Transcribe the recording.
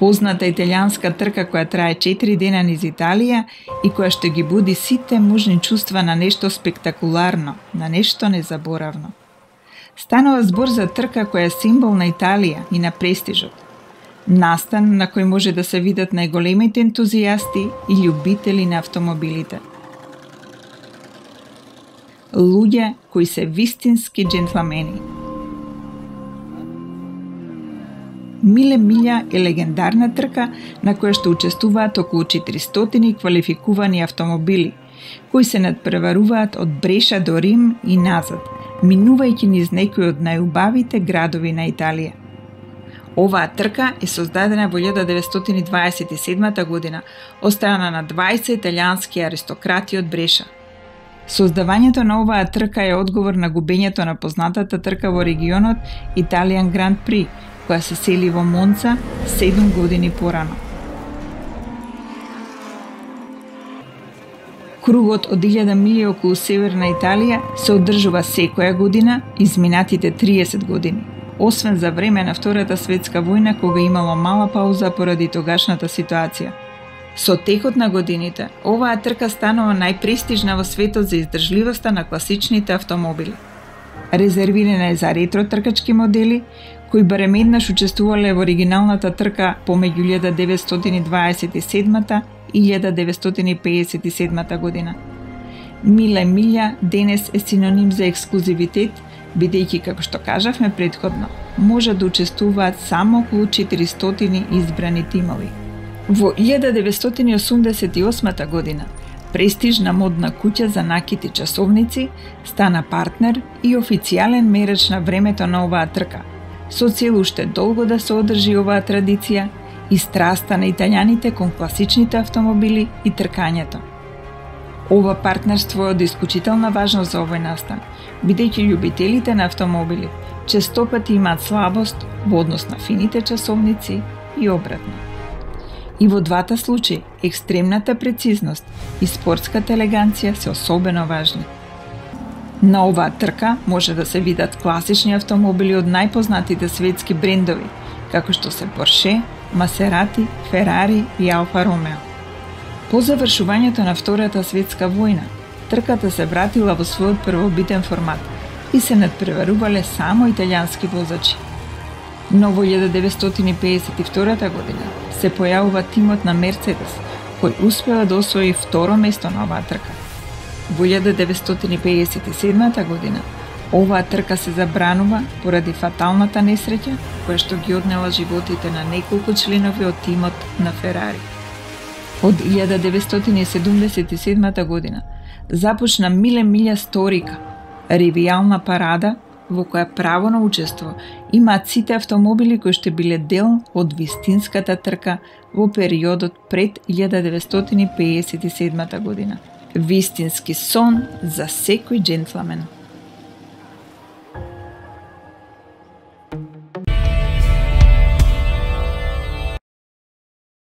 Позната италијанска трка која трае 4 дена низ Италија и која што ги буди сите можни чувства на нешто спектакуларно, на нешто незаборавно. Станува збор за трка која е символ на Италија и на престижот. Настан на кој може да се видат најголемите ентузијасти и љубители на автомобилите. Луѓе кои се вистински джентлмени. Миле Милја е легендарна трка на која што учествуваат околу 400 квалификувани автомобили, кои се надпреваруваат од Бреша до Рим и назад, минувајќи низ некои од најубавите градови на Италија. Оваа трка е создадена во 1927 година од страна на 20 италијански аристократи од Бреша. Создавањето на оваа трка е одговор на губењето на познатата трка во регионот Италијан Гранд При, која се сели во Монца 7 години порано. Кругот од 1000 милји околу северна Италија се одржува секоја година изминатите 30 години, освен за време на Втората светска војна кога имало мала пауза поради тогашната ситуација. Со текот на годините, оваа трка станува најпрестижна во светот за издржливоста на класичните автомобили. Резервирана е за ретро тркачки модели, кои барем еднаш учествувале во оригиналната трка помеѓу 1927 и 1957 година. Миле Милја денес е синоним за ексклузивитет, бидејќи, како што кажавме претходно, може да учествуваат само околу 400 избрани тимови. Во 1988 година престижна модна куќа за накити часовници стана партнер и официјален мерач на времето на оваа трка, со цел уште долго да се одржи оваа традиција и страста на италијаните кон класичните автомобили и тркањето. Ова партнерство е од исклучителна важност за овој настан, бидејќи љубителите на автомобили честопати имаат слабост во однос на фините часовници и обратно. И во двата случаи, екстремната прецизност и спортската елеганција се особено важни. На оваа трка може да се видат класични автомобили од најпознатите светски брендови, како што се Порше, Масерати, Ферари и Алфа Ромео. По завршувањето на Втората светска војна, трката се вратила во својот првобитен формат и се надпреварувале само италијански возачи. Но во 1952 година се појавува тимот на Мерцедес, кој успева да освои второ место на оваа трка. Во 1957 година оваа трка се забранува поради фаталната несреќа која што ги однела животите на неколку членови од тимот на Ферари. Од 1977 година започна Миле Милја Сторика, ревијална парада во која право на учество имаат сите автомобили кои што биле дел од вистинската трка во периодот пред 1957 година. Вистински сон за секој джентлмен.